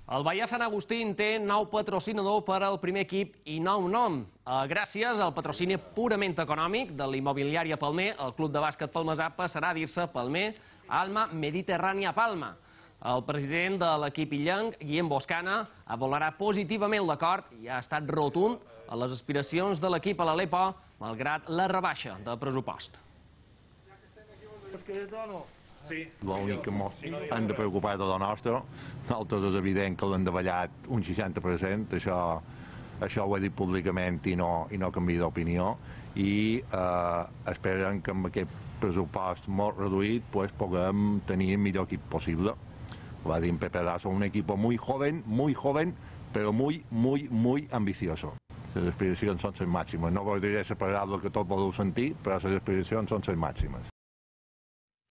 El Baia Sant Agustín té nou patrocinador per al primer equip i nou nom. Gràcies al patrocini purament econòmic de l'immobiliària Palmer, el club de bàsquet palmesà passarà a dir-se Palmer Alma Mediterrània Palma. El president de l'equip illenc, Guillem Boscana, avalarà positivament l'acord i ha estat rotund a les aspiracions de l'equip a l'Alepo, malgrat la rebaixa de pressupost. L'únic que hem de preocupar de la nostra, nosaltres és evident que l'hem davallat un 60%, això ho he dit públicament i no canvio d'opinió, i esperem que amb aquest pressupost molt reduït puguem tenir el millor equip possible. Va dir en Pepe Dazo, un equipo muy joven, pero muy ambicioso. Les aspiracions són les màximes. No voldria ser parlar del que tot voleu sentir, però les aspiracions són les màximes.